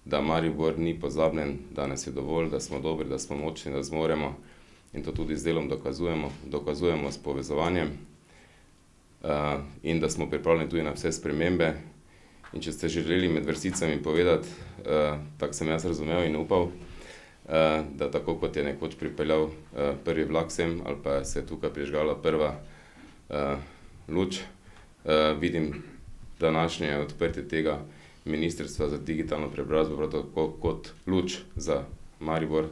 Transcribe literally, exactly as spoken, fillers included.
da Maribor ni pozabljen, da nas je dovolj, da smo dobri, da smo močni, da zmoremo in to tudi z delom dokazujemo, dokazujemo s povezovanjem uh, in da smo pripravljeni tudi na vse spremembe. In če ste želeli med vrsticami povedati, uh, tako sem jaz razumel in upal, uh, da tako kot je nekoč pripeljal uh, prvi vlak sem ali pa se je tukaj prižgala prva uh, luč, uh, vidim današnje odprtje tega Ministrstva za digitalno preobrazbo prav tako kot luč za Maribor,